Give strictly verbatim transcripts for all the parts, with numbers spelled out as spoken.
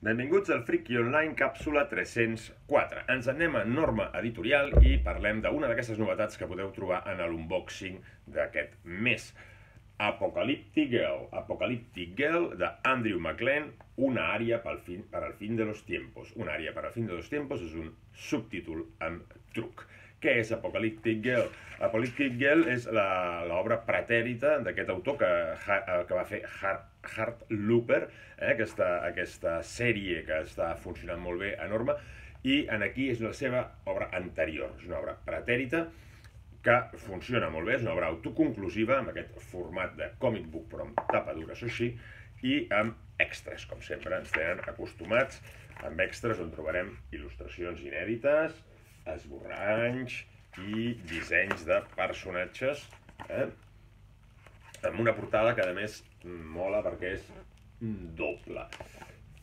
Benvinguts al Friki Online càpsula tres-cents quatre. Ens anem a Norma Editorial i parlem d'una d'aquestes novetats que podeu trobar en l'unboxing d'aquest mes. Apocalyptic Girl. Apocalyptic Girl de Andrew McLean, una àrea per al fin, per al fin de los tiempos. Una àrea per al fin de los tiempos és un subtítol amb truc. Què és Apocalyptic Girl? Apocalyptic Girl és l'obra pretèrita d'aquest autor que, que va fer Heartlooper, eh, aquesta, aquesta sèrie que està funcionant molt bé a Norma, i en aquí és la seva obra anterior. És una obra pretèrita que funciona molt bé, és una obra autoconclusiva, amb aquest format de comic book, però amb tapa dura, això sí, i amb extras, com sempre ens tenen acostumats, amb extras on trobarem il·lustracions inèdites, esborranys i dissenys de personatges, eh? Amb una portada que a més mola perquè és doble.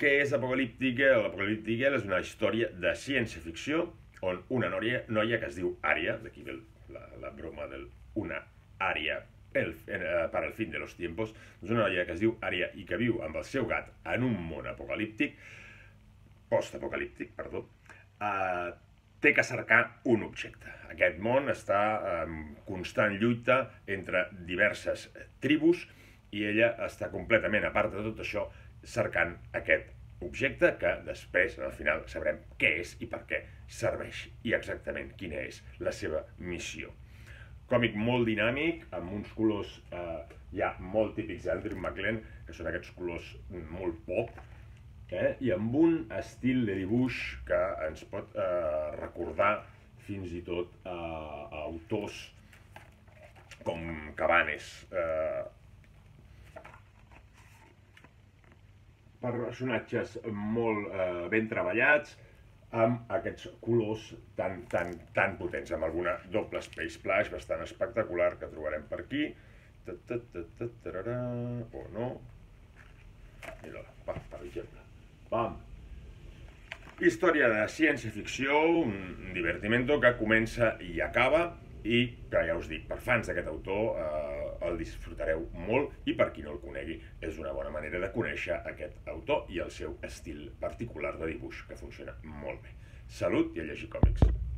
Què és Apocalyptic Girl? Apocalyptic Girl és una història de ciència-ficció on una noia, noia que es diu Ària, d'aquí ve la, la broma del una àrea el, eh, per al fin de los tiempos, és una noia que es diu Ària i que viu amb el seu gat en un món apocalíptic, post-apocalíptic, perdó, eh, té que cercar un objecte. Aquest món està en constant lluita entre diverses tribus i ella està completament a part de tot això cercant aquest objecte que després, al final, sabrem què és i per què serveix i exactament quina és la seva missió. Còmic molt dinàmic, amb uns colors eh, ja molt típics d'Andrew McLean, que són aquests colors molt pop, Eh? i amb un estil de dibuix que ens pot eh, recordar fins i tot eh, a autors com Cabanes. Eh, personatges molt eh, ben treballats, amb aquests colors tan, tan, tan potents, amb alguna doble space splash bastant espectacular que trobarem per aquí. O no. Mira, per exemple. Bam. Història de ciència-ficció, un divertimento que comença i acaba i que ja us dic, per fans d'aquest autor eh, el disfrutareu molt i per qui no el conegui és una bona manera de conèixer aquest autor i el seu estil particular de dibuix que funciona molt bé. Salut i a llegir còmics!